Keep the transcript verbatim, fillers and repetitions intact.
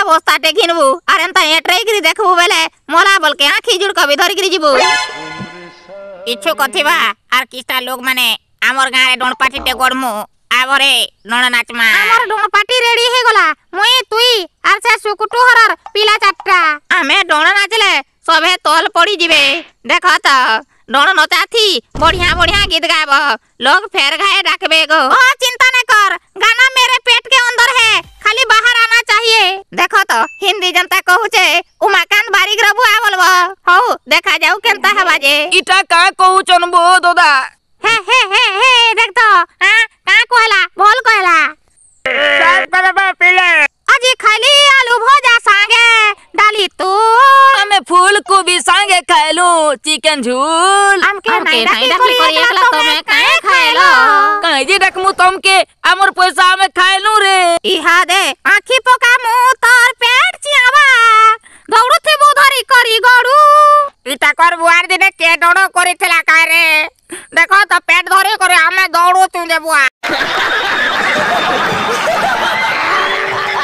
ବସ୍ତାଟେ ଘିନବୁ ଆର୍ ଏନ୍ତା ଏଟରେଇକିରି ଦେଖବୁ ବେଲେ ମଲା ବଲକେ ଆଖି ଜୁଡ଼କ ବି ଧରିକିରି ଯିବୁ। ଇଚ୍ଛୁକ ଥିବା ଆର୍ କିସ୍ତା ଲୋକ ମାନେ ଆମର ଗାଁରେ ଡଣପାଟିଟେ ଗଡ଼ମୁ, ଆବରେ ଡଣ ନାଚମା। ଆମର ଡଣପାଟି ରେଡି ହେଇଗଲା, ମୁଇଁ, ତୁଇ ଆର୍ ସେ ସୁକୁଟୁ ହରର ପିଲା ଚାରିଟା। ଆମେ ଡଣ ନାଚଲେ ସଭେ ତଲ ପଡି ଯିବେ। ଦେଖ ତ, ଡଣ ନଚାଥି बढ़िया बढ़िया गीत गाब, लोग फेर घाए डाकबे गो। ओ चिंता न कर, गाना मेरे पेट के अंदर है, खाली बाहर आना चाहिए। देखो तो हिंदी जनता कहूचे उमाकांत बारिक रबुआ बोलबो। हौ देखा जाऊ केनता हेबा जे। इटा का कहूचन बो दादा? हे हे हे हे, देख तो, हां का कहला, भोल कहला। अजी खाली आलू भजा सांगे डाली तू। हमें फूल गोभी सांगे खाइलू चिकन झूल। हमके नहीं डाकली करी एकला तमे काहे खाइलो? काहे जे डकमु तमके, हमर पैसा हमें खाइलू रे। इहा दे आखी पोका मु तोर पेट चियावा दौड़ू थी धरी करी गड़ू। इटा कर बुआर दिने के डोड़ो करी थिला काय रे? देखो तो पेट धरी करे हमें दौड़ू तू जे बुआ।